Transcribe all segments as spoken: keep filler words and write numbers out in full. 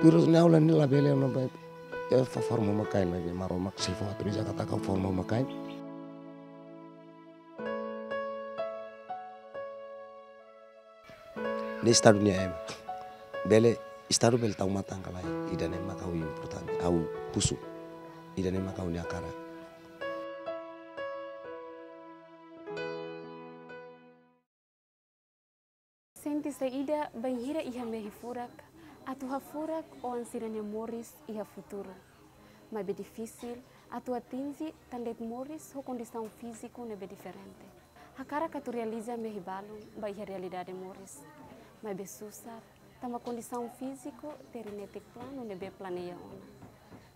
Virus ne'e ha'u la, ne'e labele, ne'ebé, eh, fó forma uma-kain, maibé Maromak sei fó autoriza katak ha'u forma uma-kain. Ne'e Estadu nia ema. Bele, Estadu bele tau matan ka lae, ida-ne'e mak ha'u importante, ha'u husu. Ida-ne'e mak ha'u-nia hakarak. Sente saida bainhira iha mehi furak, atu hafurak oan sira-nia moris iha futuru. Maibé difisil atu atinje tan de'it moris ho kondisaun fíziku ne'ebé diferente. Hakarak atu realiza mehi balun ba iha realidade moris. Maibé susar, tanba kondisaun fíziku teri netik planu ne'ebé planeia ona.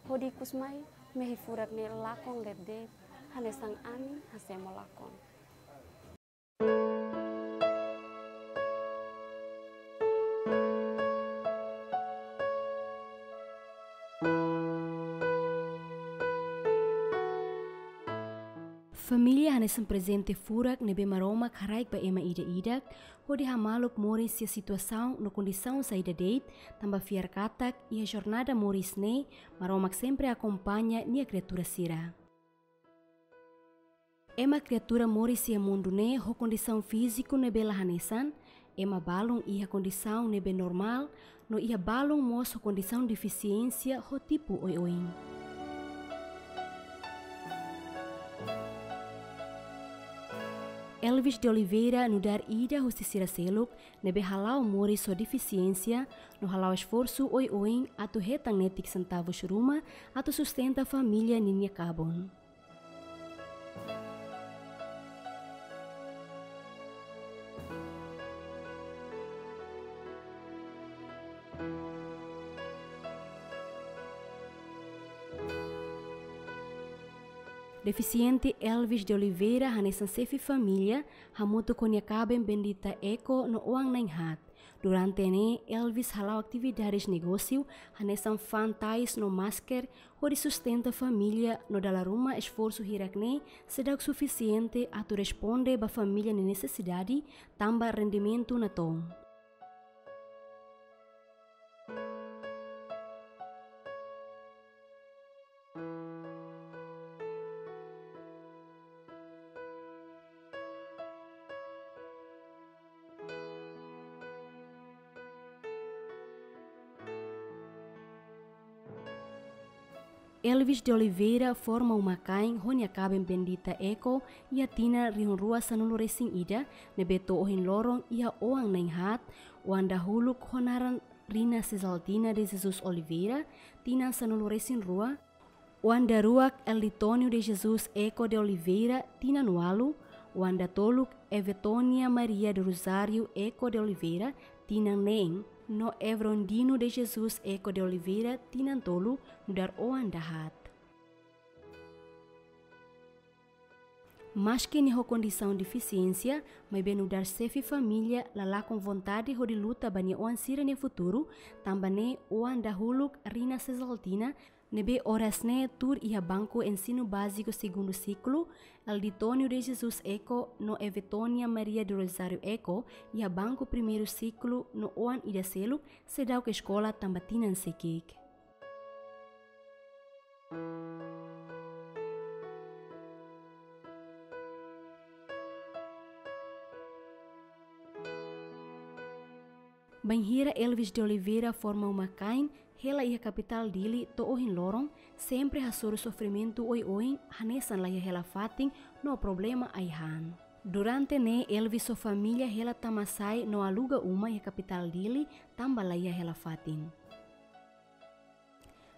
Hodi ikus mai, mehi furak ne'e lakon ler de'it, hanesan anin hasemo lakon. Família hanesan prezente furak ne'ebé Maromak haraik ba ema ida-idak, hodi hamaluk moris iha situasaun no kondisaun saida de'it, tanba fiar katak iha jornada moris ne'e, Maromak sempre akompaña nia kriatura sira. Ema kriatura moris iha mundu ne'e ho kondisaun fíziku ne'ebé la hanesan, ema balun iha kondisaun ne'ebé normál, no iha balun mós ho kondisaun defisiénsia ho tipu oioin. Elvis de Oliveira nu'udar ida husi sira seluk ne'ebé hala'o moris ho defisiénsia, no hala'o esforsu oioin atu hetan netik sentavus ruma atu sustenta família ninia kabun. Defisiente Elvis de Oliveira hanesan xefe família, hamutuk ho nia kaben Bendita Eko no oan na'in-haat. Durante ne'e, Elvis hala'o atividades negósiu, hanesan fa'an tais no masker, hodi sustenta família no dala ruma esforsu hirak-ne'e seidauk sufisiente atu responde ba família nia nesesidade, tanba rendimentu natoon. Elvis de Oliveira forma uma-kain ho nia kaben Bendita Eko iha tinan rihun rua sanulu-resin-ida, ne'ebé to'o ohin loron iha oan na'in-haat, oan dahuluk ho naran Rina Cesaltina de Jesus Oliveira, tinan sanulu-resin-rua, oan daruak Elditonio de Jesus Eko de Oliveira, tinan ualu, oan datoluk Evetonia Maria do Rosário Eko de Oliveira, tinan neen, no Evrondino de Jesus Eko de Oliveira, tinan tolu, nu'udar oan dahaat. Maski nia ho kondisaun defisiénsia, maibé nu'udar xefe família la lakon vontade hodi luta ba nia oan sira-nia futuru, tanba ne'e oan dahuluk Rina Cesaltina, ne'ebé oras ne'e tuur iha banku ensinu báziku segundu siklu, Elditonio de Jesus Eko no Evetonia Maria do Rosário Eko iha banku primeiru siklu no oan ida seluk seidauk eskola tanba tinan seki'ik. Bainhira Elvis de Oliveira forma uma-kain hela iha kapitál Dili to'o ohin loron, sempre hasoru sofrimentu oioin hanesan laiha hela fatin no problema ai-han. Durante ne'e Elvis ho família hela tama-sai no aluga uma iha kapitál Dili tanba laiha hela fatin.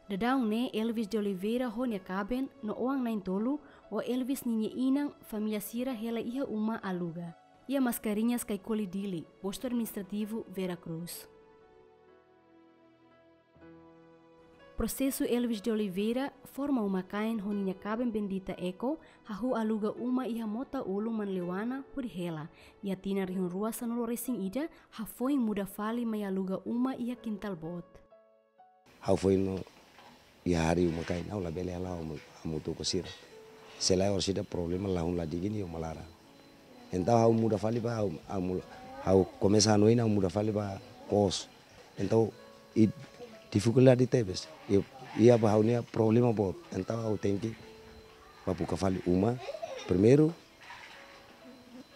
Daudaun ne'e Elvis de Oliveira ho nia kaben no oan na'in-tolu, ho Elvis ninia inan, família sira hela iha uma aluga iha Mascarenhas, Caicoli, Dili, postu administrativu Vera Cruz. Prosesu Elvis de Oliveira forma uma-kain ho ninia kaben Bendita Eko, hahú aluga uma iha mota ulun Manleuana hodi hela iha tinan rihun rua sanulu-resin-ida, hafoin muda fali mai aluga uma iha kintál boot. Ha'u foin no iha hari uma-kain, ha'u labele hala'o hamu-, hamutuk ho sira. Se lae orsida problema lahun ladigi nia uma laran. Entaun ha'u muda fali ba, ha'u, ha'u mula-, ha'u komesa hanoin ha'u muda fali ba kos. Entaun, i, difikuldade tebes. I, iha ba ha'u-nia problema boot. Entaun ha'u tenke ba buka fali uma. Primeiru,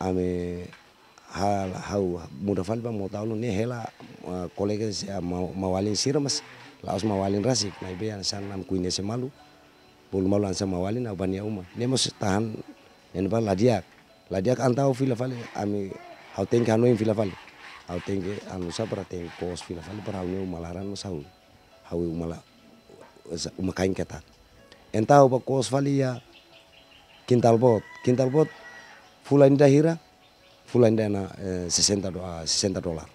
ami hal-, ha'u muda fali ba Mota-Ulo ne'e hela, ah, kolega sira, ah, ma-, maun-alin sira mas la'ós maun-alin rasik. Maibé hanesan ami koñese malu. Bolu malu hanesan maun-alin ha'u ba nia uma. Ne'e mós tahan, ne'e ba la di'ak. La di'ak entaun ha'u fila fali, ami, ha'u tenke hanoin fila fali. Ha'u tenke anu sá para tenke kos fila fali para ha'u-nia uma laran mós ha'u. Ha'u uma la, sa-, uma kain ketak. Entaun ha'u ba kos fali iha Kintal Boot. Kintal Boot fulan ida hira, fulan ida ona, eh, sesenta do-, ah, sesenta dolar.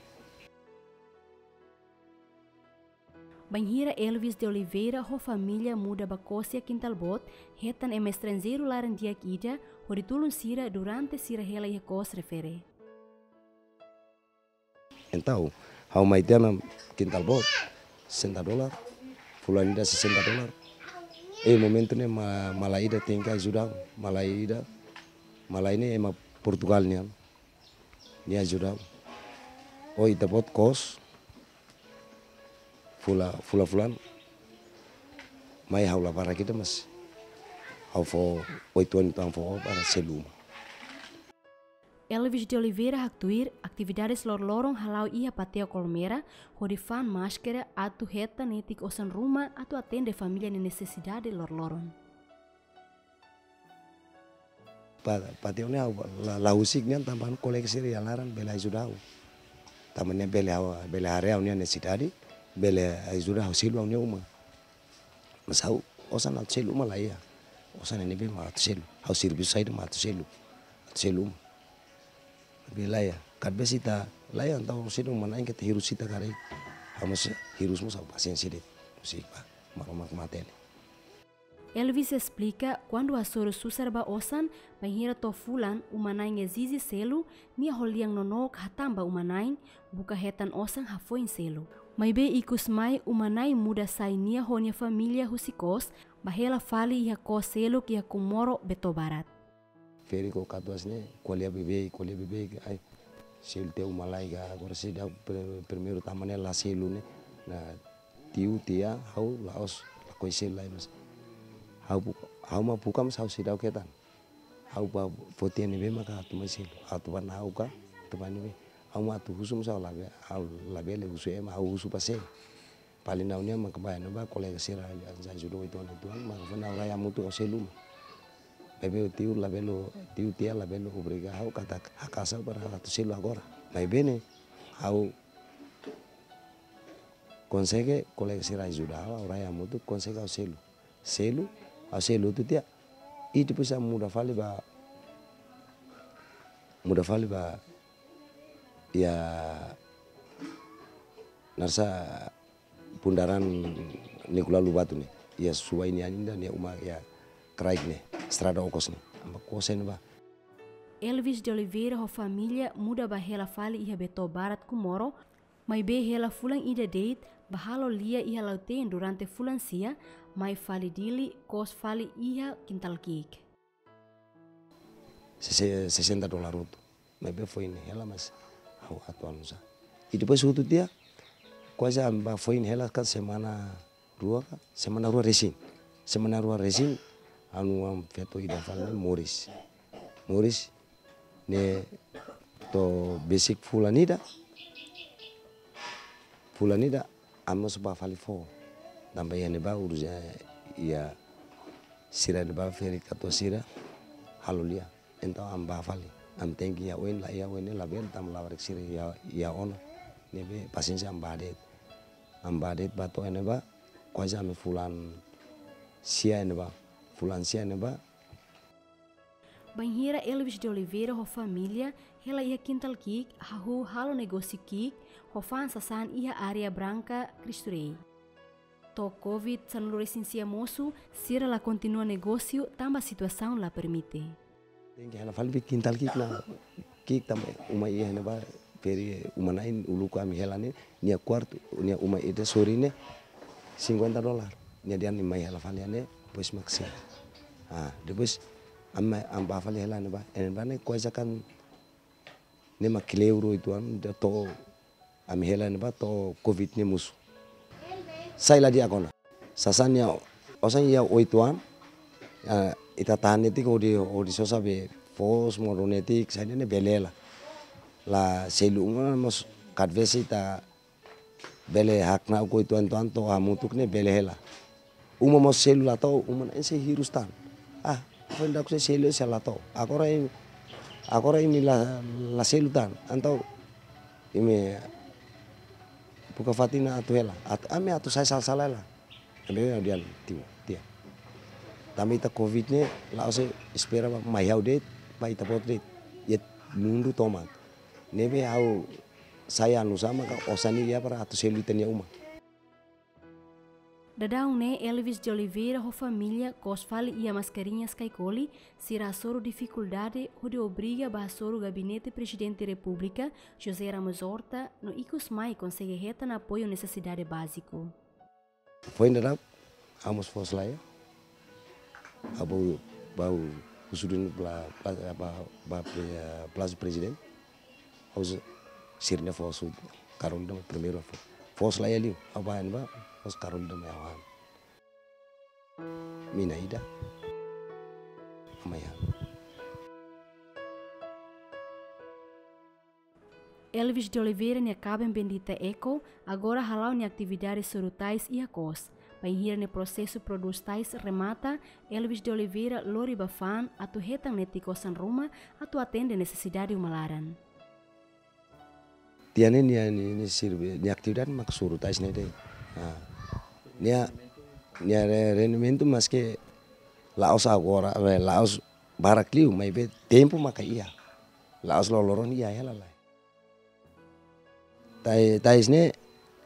Bainhira Elvis de Oliveira ho família muda ba kos iha Kintal Boot, hetan ema estranjeiru laran-di'ak ida hodi tulun sira durante sira hela iha kos refere. Entaun ha'u mai tiha ona Kintal Boot, sesenta dolar, fulan ida sesenta dolar. I momentu ne'e ma-, malae ida tenke ajuda, malae ida, malae ne'e ema Portugal nian, nia ajuda. Ó, ita-boot kos, fula, fula fulan, mai ha'u la barak ida mas ha'u fó oituan ituan fó para selu uma. Elvis de Oliveira haktuir, atividades loroloron hala'o iha Pateo Colmera, hodi fa'an máskara atu hetan netik osan ruma atu atende família nia nesesidade loroloron. Pa-, Pateo ne'e ha'u la, la husik nian tanba kolega sira iha laran bele ajuda ha'u. Tanba ne'e bele ha'u, bele haree ha'u-nia nesesidade, bele ajuda ha'u selu ha'u-nia uma. Mas ha'u osan atu selu uma la iha. Osan ne'ebé mak atu selu. Ha'u servisu saida mak atu selu. Atu selu uma. Maibé la iha. Kada vez ita la iha entaun selu uma-na'in keta hirus ita karik. Ha'u mós hirus mós ha'u pasiénsia de'it. Husik ba Maromak matenek. Elvis esplika, kuandu hasoru susar ba osan, bainhira to'o fulan, uma-na'in ezije selu, nia ho lian nonook hatán ba uma-na'in, buka hetan osan hafoin selu. Maibé ikus mai uma-na'in muda sai nia ho nia família husi kos, ba hela fali iha kos seluk iha Comoro, Beto Barat. Ferik ho katuas ne'e, ko'alia beibeik, ko'alia beibeik, ai, selu tiha uma lai ka, agora seidauk pri-, primeiru tama ne'e la selu ne'e, ona tiu, tia, ha'u la'ós, lakohi selu lai mas. Ha'u bu-, ha'u mak buka mas ha'u seidauk hetan. Ha'u ba foti ne'ebé maka atu mai selu. Atu ba na'ok ka, atu ba ne'ebé. Ha'u mak atu husu mas ha'u labele, ha'u labele husu ema, ha'u husu ba sé. Paling ha'u-nia mak ba ne'ebá kolega sira ajuda oituan-oituan, mak fó ha'u rai hamutuk ha'u selu uma. Maibé tiu labele, tiu tia labele obriga ha'u katak haka'as ha'u para atu selu agora. Maibé ne'e, ha'u konsege kolega sira ajuda ha'u, ha'u rai hamutuk konsege ha'u selu. Selu, ha'u selu hotu tiha. I depois ha'u muda fali ba, muda fali ba, iha, naran sá, bundaran Nicolau Lobato ne'e. Iha Suai nian ida, nia uma iha kraik ne'e, estrada okos ne'e. Ami ba kos iha ne'ebá. Elvis de Oliveira ho família muda ba hela fali iha Beto Barat, Comoro, maibé hela fulan ida de'it, ba halo lia iha Lautém durante fulan sia, mai fali Dili, kos fali iha Kintal Ki'ik. Sese-, sesenta dolar hotu. Maibé foin hela mas ha'u atu anu sá. I depois hotu tiha, kuaze ami ba foin hela kan semana rua ka, semana rua resin. Semana rua resin, anu-an feto ida fali ne'e moris. Moris, ne'e to'o besik fulan ida. Fulan ida, ami mós ba fali foho. Tanba iha ne'ebá urus iha, iha sira ne'ebá ferik katuas sira, halo lia. Entaun ami ba fali. Ami tenke iha oin la iha oin ne'e labele tanba labarik sira iha, iha ona. Ne'ebé pasiénsia ami ba de'it. Ami ba de'it ba to'o iha ne'ebá. Kuaze ami fulan sia iha ne'ebá. Fulan sia iha ne'ebá. Bainhira Elvis de Oliveira ho família, hela iha Kintal Ki'ik, hahú halo negósiu ki'ik, ho fa'an sasán iha área Branca, Cristo Rei. To'o Covid sanulu-resin-sia mosu, sira la kontinua negósiu tanba situasaun la permite. Tenke hela fali ba Kintal Ki'ik ona, ki'ik tanba uma iha ne'ebá, ferik uma-na'in uluk ami hela ne'e, nia kuartu, nia uma ida sorin ne'e, cinquenta dolar. Nia dehan nia mai hela fali iha ne'e, depois mak sei. Ah, depois ami, ami ba fali hela ne'ebá, iha ne'ebá ne'e kuaze kan ne'e mak kleur oituan, to'o ami hela ne'ebá to'o Covid ne'e mosu. Sai la di'ak ona. Sasán nia osan iha oitu an. Ah, ita tahan netik hodi, hodi sosa be foos modo netik, saida ne'e bele hela. La selu uma mós, kadvese ita bele hakna'ak ho oitu an to'o hamutuk ne'e bele hela. Uma mós selu la to'o, uma na'in sei hirus tan. Ah, foin dak sei selu sei la to'o. Agora imi, agora imi la, la selu tan. Entaun imi buka fatin atu hela. At-, ami atu sai sala-sala hela. Ami ha'u dehan tiha, tiha. Tanba ita covid ne'e, la'ós espera ba mai ha'u de'it, ba ita-boot de'it. Iha mundu tomak. Ne'ebé ha'u sai anu sama ka osan ne'e iha para atu selu ita-nia uma. Daudaun ne'e Elvis de Oliveira ho família kos fali iha Mascarenhas Caicoli, sira hasoru difikuldade hodi obriga ba hasoru Gabinete Prezidente Repúblika, José Ramos Horta, no ikus mai konsege hetan apoiu nesesidade báziku. Foin daudaun, ha'u mós foos laiha. Ha'u bá, bá husu duni pla-, pla-, ba, ba, eh, Palásiu Prezidente. Ha'u husu sira-nia foos, Carolina primeiru fo-, foos laiha liu. Ha'u bá iha ne'ebá, foos Carolina mai ha'u han. Mina ida. Amanhã. Elvis de Oliveira nia kaben Bendita Eko, agora hala'o nia atividade soru tais iha kos. Bainhira nia prosesu prodús tais remata, Elvis de Oliveira lori ba fa'an atu hetan netik osan ruma atu atende nesesidade uma laran. Tiha ne'e nia, nia, nia sirbi, nia atividade mak soru tais ne'e de'it. Ah. Nia, nia re-, rendimentu maske la'ós agora, eh, la'ós barak liu, maibé tempu maka iha. La'ós loroloron iha hela lai. Tai-, tais ne'e,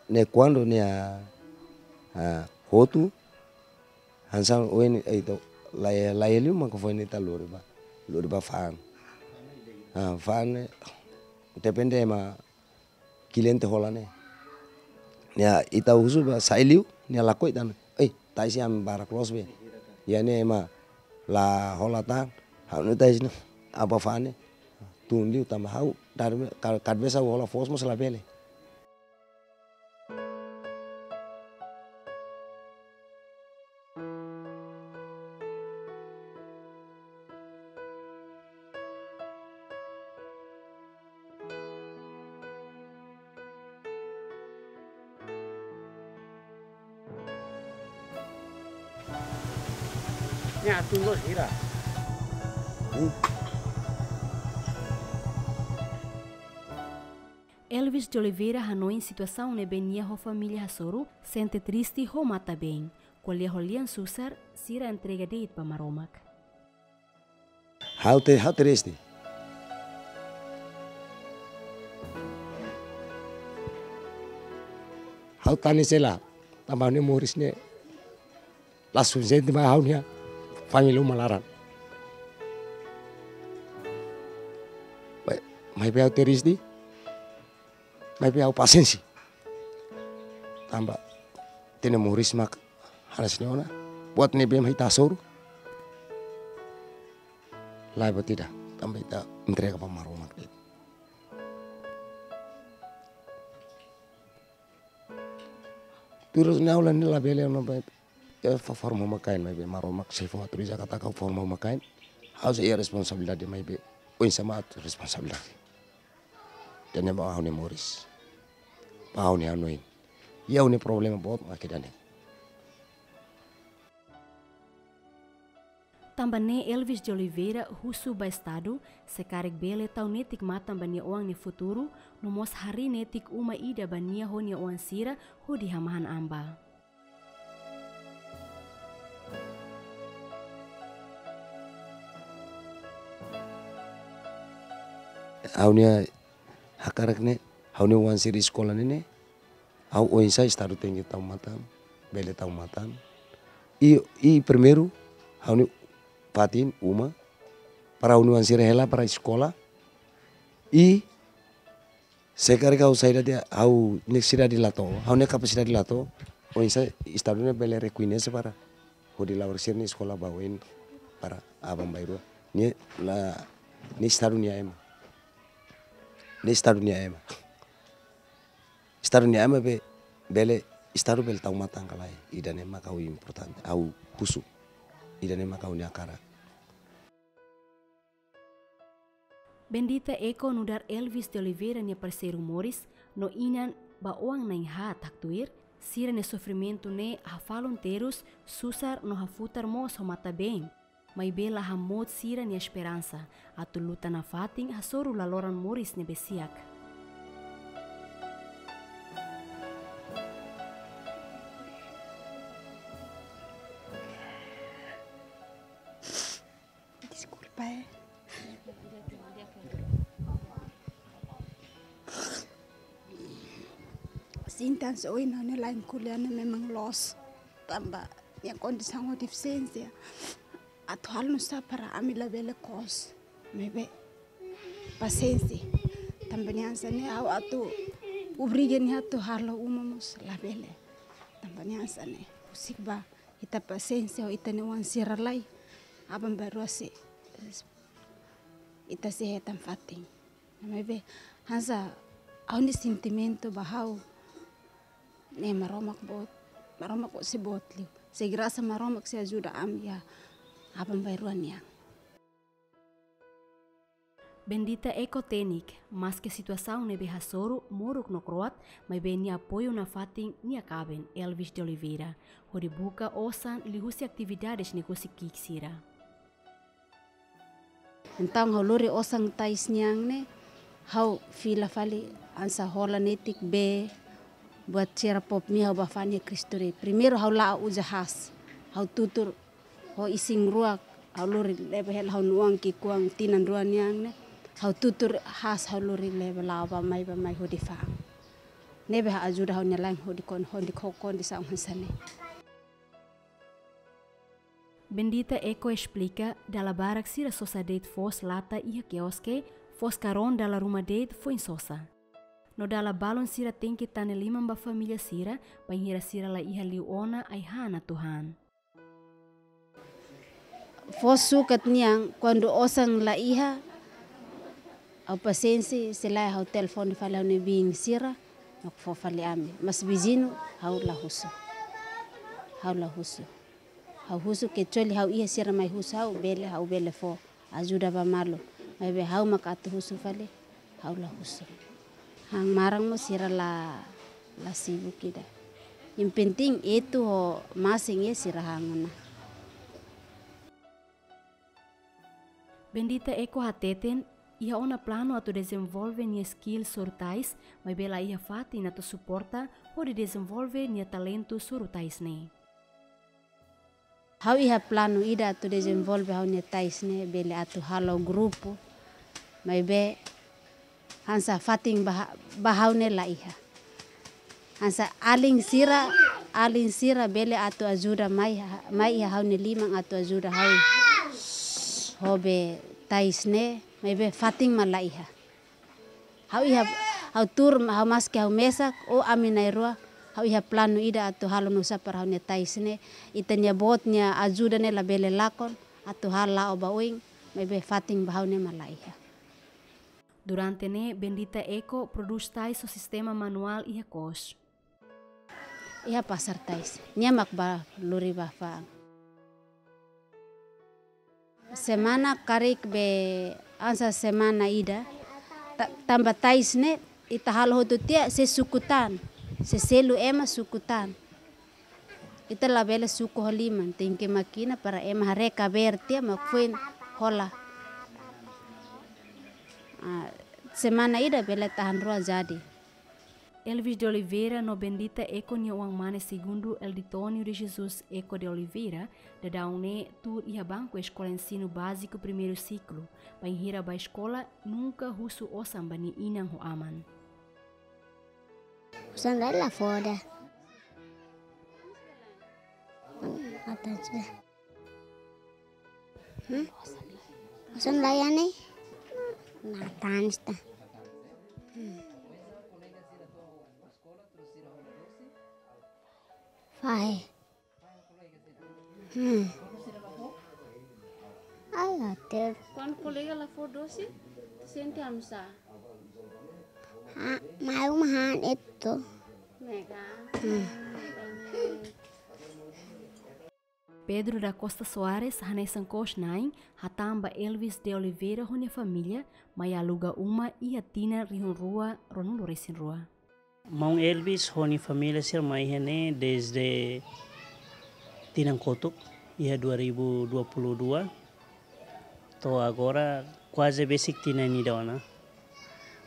ne'e kuandu nia, ah, hotu, hanesan oin, eh, ita, laiha, laiha liu maka foin ita lori ba, lori ba fa'an. Ah, fa'an ne'e, depende ema kliente hola ne'e. Nia ita husu ba sai liu, nia lakohi tan. Eh, tais ne'e ami barak loos be. Iha ne'e ema la hola tan. Ha'u-nia tais ne'e, aban fa'an ne'e tun liu tanba ha'u, dar me, ka-, kadvese ha'u hola foos mós labele. Nia tunggu hira. Elvis de Oliveira hanoin situasaun ne'ebé nia ho família hasoru, sente triste ho matan-been. Ko'alia ho lian susar, sira entrega de'it ba Maromak. Ha'u te, ha'u triste. Ha'u tanis hela, tanba ha'u-nia moris ne'e la sufisiente ba ha'u-nia família uma laran. Mai, maibé ha'u triste, maibé ha'u pasiénsia. Tanba ita-nia moris mak hanesan ne'e ona. Buat ne'ebé mak ita hasoru, laiha buat ida, tanba ita entrega ba Maromak de'it. Tuir ha'u-nia aula ne'e labele ona ba, eh, fó forma uma-kain, maibé Maromak sei fó autoriza katak ha'u forma uma-kain. Ha'u sei iha responsabilidade maibé oinsá mak atu responsabilidade. Ida-ne'e ba ha'u-nia moris. Ba ha'u-nia hanoin. Iha ha'u-nia problema boot mak ida-ne'e. Tanba ne'e Elvis de Oliveira husu ba Estadu, se karik bele tau netik matan ba nia oan nia futuru, no mós harii netik uma ida ba nia ho nia oan sira hodi hamahan an ba. Ha'u-nia hakarak ne'e, ha'u-nia oan sira eskola ne'e ne'e, ha'u oinsá Estadu tenke tau matan, bele tau matan. I, i primeiru, ha'u-nia fatin, uma, para ha'u-nia oan sira hela para eskola. I se karik ha'u saida de'it, ha'u-nia nesesidade la to'o, ha'u-nia kapasidade la to'o, oinsá Estadu ne'e bele rekoñese para hodi la'o sira-nia eskola ba oin para aban-bainrua. Ne'e la, ne'e Estadu nia ema. Ne'e Estadu nia ema. Estadu nia ema be, bele Estadu bele tau matan ka lae, ida-ne'e mak ha'u importante, ha'u husu. Ida-ne'e mak ha'u-nia hakarak. Bendita Eko nu'udar Elvis de Oliveira nia parseiru moris no inan ba oan na'in-haat haktuir, sira-nia sofrimentu ne'e hafalun terus, susar no hafutar mós ho matan-been. Maibé la hamout sira-nia esperansa atu luta nafatin hasoru laloran moris ne'ebé siak. Deskulpa, eh. Sintan so ina ne lain kuliah ne'e memang loos. Tanba nia kondisaun ho defisiénsia. Atu halo nusá para ami labele kos. Maibé pasiénsia. Tanba nia hanesan ne'e ha'u atu obriga nia atu halo uma mós labele. Tanba nia hanesan ne'e. Husik ba ita pasiénsia ho ita-nia oan sira lai. Aban-bainrua sei, ita sei hetan fatin. Maibé hanesan ha'u-nia sentimentu ba ha'u ne'e Maromak boot, Maromak boot sei boot liu. Sei grasa Maromak sei ajuda ami iha aban-bainrua nian. Bendita Eko hateten, maske situasaun ne'ebé hasoru moruk no kro'at, maibé nia apoiu nafatin nia kaben, Elvis de Oliveira, hodi buka osan liuhusi atividades ne'e husi ki'ik sira. Entaun ha'u lori osan tais nian ne'e, ha'u fila fali hanesan hola netik bee, buat sira pop mia ha'u bá fa'an iha Cristo Rei. Primeiru ha'u la'o uza haas, ha'u tutur ho isin rua, ha'u lori leba hela ha'u-nia oan ki'ikoan tinan rua nian ne'e, ha'u tutur haas ha'u lori leba la'o bá mai bá mai hodi fa'an. Ne'ebé ha'u ajuda ha'u-nia laen hodi kon, hodi ho kondisaun hanesan ne'e. Bendita Eko esplika, dala barak sira sosa de'it foos lata iha kioske, foos karón dala ruma de'it foin sosa. No dala balun sira tenke tane liman ba família sira, bainhira sira la iha liu ona ai-han atu han. Foos sukat nian, kuandu osan la iha, ha'u pasiénsia, se lae ha'u telefone fali ha'u-nia biin sira, mak fó fali ami. Mas viziñu, ha'u la husu. Ha'u la husu. Ha'u husu kecuali ha'u iha sira mai husu ha'u, bele, ha'u bele fó ajuda ba malu. Maibé ha'u mak atu husu fali, ha'u la husu. Han maran mós sira la, la sibuk ida. Yang penting etu ho masin iha sira han ona. Bendita Eko hateten, iha ona planu atu dezenvolve nia skill soru tais, maibé la iha fatin atu suporta hodi dezenvolve nia talentu soru tais ne'e. Ha'u iha planu ida atu dezenvolve ha'u-nia tais ne'e bele atu halo grupu, maibé hanesan fatin ba, ba ha'u ne'e la iha. Hanesan alin sira, alin sira bele atu ajuda mai, mai iha ha'u-nia liman atu ajuda ha'u ho be tais ne'e, maibé fatin mak la iha. Ha'u iha, ha'u tuur, ha'u maske ha'u mesak, ou ami na'in-rua, ha'u iha planu ida atu halo nusá para ha'u-nia tais ne'e, ita-nia boot nia ajuda ne'e labele lakon, atu halo la'o ba oin, maibé fatin ba ha'u ne'e mak la iha. Durante ne'e, Bendita Eko prodús tais ho sistema manuál iha kos. Iha pasar tais. Nia mak bá lori bá fa'an. Semana karik be hanesan semana ida. Ta-, tanba tais ne'e, ita halo hotu tiha, sei suku tan. Sei selu ema suku tan. Ita labele suku ho liman, tenke mákina para ema haree kabeer tiha mak foin hola. Ah, semana ida bele tahan rua jadi. Elvis de Oliveira no Bendita Eko nia oan-mane segundu Elditonio de Jesus Eko de Oliveira, daudaun ne'e tuur iha banku eskola ensinu báziku primeiru siklu, bainhira bá eskola nunka husu osan ba nia inan ho aman. Osan la, la fó ida. Hmm, atas ida. Hmm? Osan la iha ne'e? Matan esta. Hmm. Fahe. Hmm. Ai, até. Kuandu kolega la fó dose, sente oinsá? Ha, mai uma han etu. Ne'e ka? Hmm. Pedro da Costa Soares hanesan kos-na'in hatán ba Elvis de Oliveira ho nia família mai aluga uma iha tinan rihun rua ruanulu resin rua. Maun Elvis ho nia família sira mai iha ne'e desde tinan kotuk, iha dua ribu dua puluh dua. To'o agora kuaze besik tinan ida ona.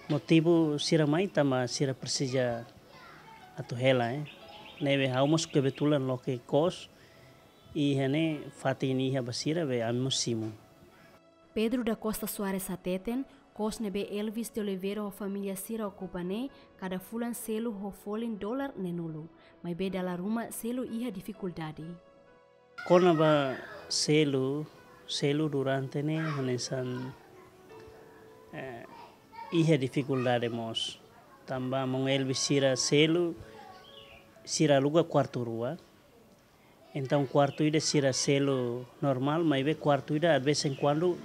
Motivu sira mai tanba sira presiza atu hela, eh. Ne'ebé ha'u mós kebetulan loke kos, iha ne'e fatin iha ba sira be ami mós simu. Pedro da Costa Soares hateten, kos ne'ebé Elvis de Oliveira ho família sira okupa ne'e, kada fulan selu ho folin dolar neenulu, maibé dala ruma selu iha difikuldade. Kona-ba selu, selu durante ne'e hanesan, eh, iha difikuldade mós. Tanba maun Elvis sira selu, sira aluga kuartu rua. Entaun kuartu ida sira selu normál, maibé kuartu ida de vez em quando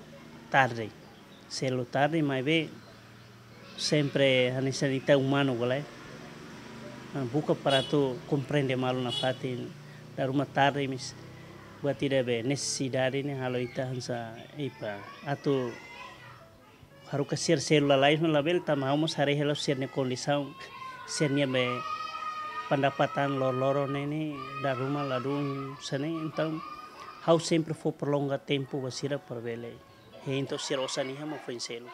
tarde. Selu tarde, maibé sempre hanesan ita umanu gole. Ah, buka para atu komprende malu nafatin, dala ruma tarde maibé buat ida be nesesidade ne'e halo ita hanesan ipa. Atu haruka sira selu lalais no labele tanba ha'u mós haree hela sira-nia kondisaun, sira-nia be pendapatan loroloron ne'e ne'e dala ruma ladún sene. Entaun ha'u sempre fó prolonga tempu ba sira para bele hein to'o sira osan iha mak foin selu.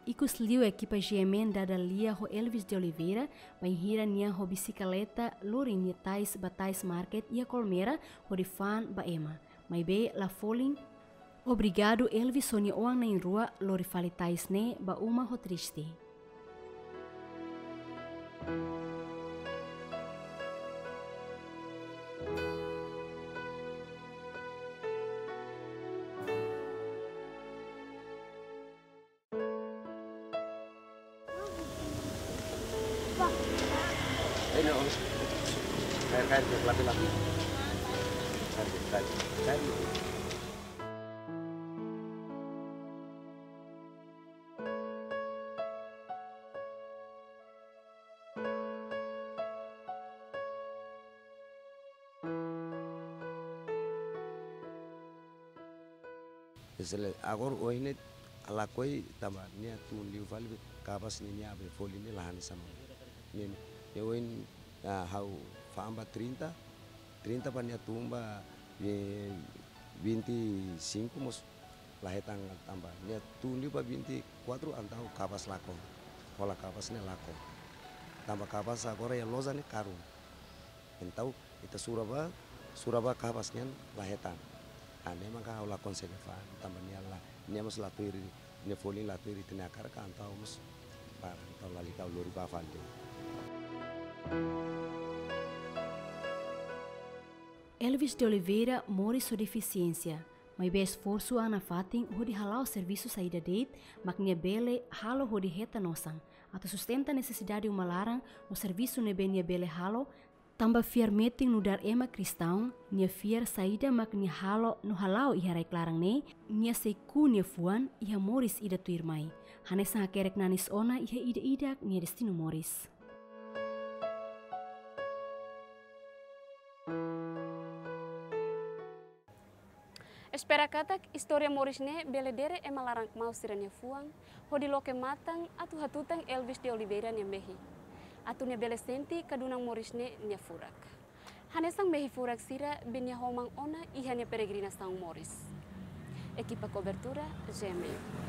Ikusliu ekipa G M N dada lia ho Elvis de Oliveira, bainhira nia ho bisikleta lori nia tais ba tais market iha Colmera, hodi fa'an ba ema. Maibé la folin obrigadu Elvis ho nia oan na'in-rua lori fali tais ne'e ba uma ho triste. Hello. Kaer, kaer, kaer, lapi, lapi. Kaer, kaer, kaer. Sele agora ohin ne'e lakohi tanba nia tun liu fali be kapás ne'e nia abre folin ne'e la hanesan ohin. Ne'e, ne'e ohin, ah, ha'u fa'an ba trinta, trinta ba nia tun ba, eh, vinte e cinco mós la hetan tanba nia tun liu ba vinte e quatro entaun kapás lakon. Hola kapás ne'e lakon. Tanba kapás agora iha loja ne'e karun. Entaun ita sura ba, sura ba kapás nian la hetan. Ah, ne'e maka ha'u la konsege fa'an, tanba nia la, nia mós la tuir, nia folin la tuir ita-nia hakarak, entaun mós para, entaun lalika ha'u lori ba fali. Elvis de Oliveira moris ho defisiénsia, maibé esforsu an nafatin hodi hala'o servisu saida de'it mak nia bele halo hodi hetan osan atu sustenta nesesidade uma laran no servisu ne'ebé nia bele halo, tanba fiar metin nu'udar ema kristaun, nia fiar saida mak nia halo no hala'o iha rai-klaran ne'e, nia sei ku'u nia fuan iha moris ida tuirmai. Hanesan hakerek nanis ona iha ida-idak nia destinu moris. Espera katak istória moris ne'e bele dere ema laran kmaus sira-nia fuan, hodi loke matan atu hatutan Elvis de Oliveira nia mehi, atu nia bele sente kadunan moris ne'e nia furak. Hanesan mehi furak sira be nia homan ona iha nia peregrinasaun moris. Ekipa kobertura, G M N.